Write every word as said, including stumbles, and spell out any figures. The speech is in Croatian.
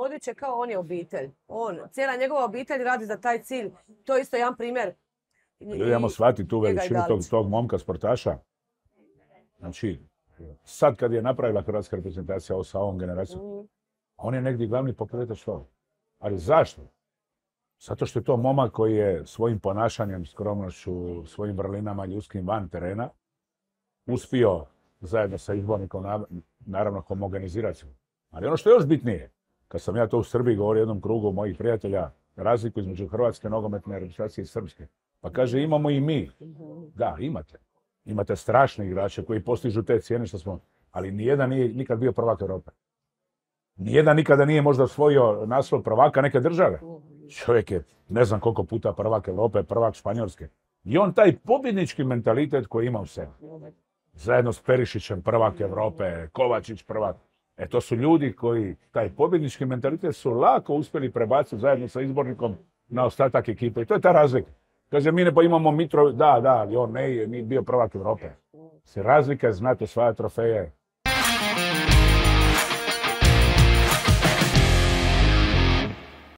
odriče kao on je obitelj. On, cijela njegova obitelj radi za taj cilj. To je isto jedan primjer. Ljudi, ajmo shvatiti tu veličinu tog, tog momka sportaša. Znači, sad kad je napravila hrvatska reprezentacija ovo sa ovom generacijom, mm. on je negdje glavni pokretač toga. Ali zašto? Zato što je to momak koji je svojim ponašanjem, skromnošću, svojim vrlinama ljudskim van terena uspio zajedno sa izbornikom naravno homogenizirati. Ali ono što je još bitnije, kad sam ja to u Srbiji govorio jednom krugu mojih prijatelja, razliku između hrvatske nogometne reprezentacije i srpske. Pa kaže, imamo i mi. Da, imate. Imate strašne igrače koji postižu te cijene što smo, ali nijedan nije nikad bio prvak Europe. Nijedan nikada nije možda osvojio naslov prvaka neke države. Čovjek je ne znam koliko puta prvak Europe, prvak Španjolske. I on taj pobjednički mentalitet koji ima u sebi. Zajedno s Perišićem prvak Europe, Kovačić prvak. E to su ljudi koji taj pobjednički mentalitet su lako uspjeli prebaciti zajedno sa izbornikom na ostatak ekipe. I to je ta razlika. Kaže, mi ne pa imamo Mitro, da, da, ali on ne je, mi bio prvak Europe. Se razlika je znati osvajati trofeje,